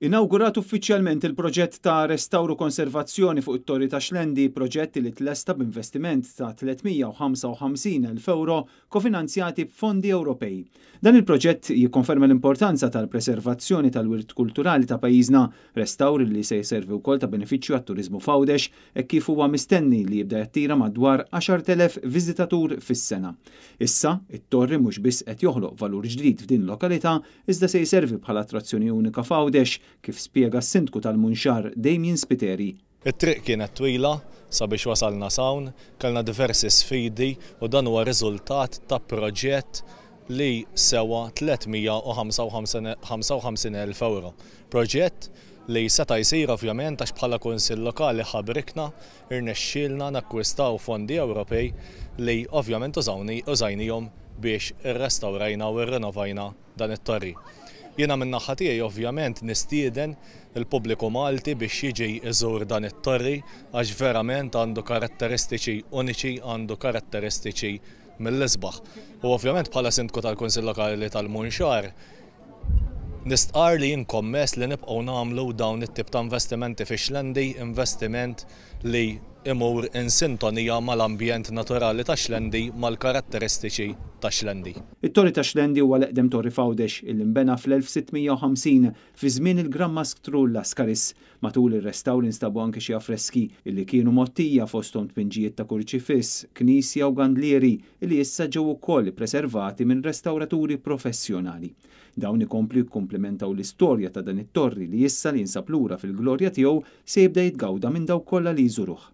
Inawgurat uffiċjalment il-proġett ta' restawr u konservazzjoni fuq it-Torri ta' Xlendi, proġett li tlesta b'investiment ta' 355,000 euro kofinanzjati b'fondi Ewropej. Dan il-proġett jikkonferma l-importanza tal-preservazzjoni tal-wirt kulturali ta' pajjiżna, restawr li se jservi wkoll ta' benefiċċju għat-turiżmu f'Għawdex hekk kif huwa mistenni li jibda jattira madwar 10,000 viżitatur fis-sena. Issa, it-torri mhux biss qed joħloq valur ġdid f'din il-lokalità iżda se jservi bħala attrazzjoni unika f'Għawdex, kif spjega s-Sindku tal-Munxar Damien Spiteri. It-triq kienet twila sabiex wasalna s'hawn, kellna diversi sfidi u dan huwa riżultat ta' proġett li sewa 355,000 euro. Proġett li seta' jsir ovvjament għax bħala Kunsill Lokali ħabrikna, irnexxielna nakkwistaw fondi Ewropej li ovvjament użajnihom biex irrestawrajna u rrinovajna dan it-torri. Jiena min-naħa tiegħi ovvjament nistieden il-pubbliku Malti biex jiġi iżur dan it-torri għax verament għandu karatteristiċi uniċi, għandu karatteristiċi mill-isbaħ. U ovvjament bħala Sindku tal-Kunsill Lokali tal-Munxar nistqar li jien kommess li nibqgħu nagħmlu dawn it-tip ta' investimenti fi Xlendi, investiment li imur in sintonija mal-ambjent naturali ta' Xlendi, mal-karatteristiċi ta' Xlendi. It-Torri ta' Xlendi huwa l-eqdem torri f'Għawdex illi nbena fl-1650 fi żmien il-Gran Mastru Lascaris. Matul ir-restawr instabu anke xi affreski illi kienu mgħottija fosthom tpinġijiet ta' kurċifiss, knisja u gandlieri illi issa ġew ukoll ippreservati minn restawraturi professjonali. Dawn ikomplu jikkumplementaw l-istorja ta' dan it-torri li issa li jinsab lura fil-glorja tiegħu se jibda jitgawda minn dawk kollha li jżuruh.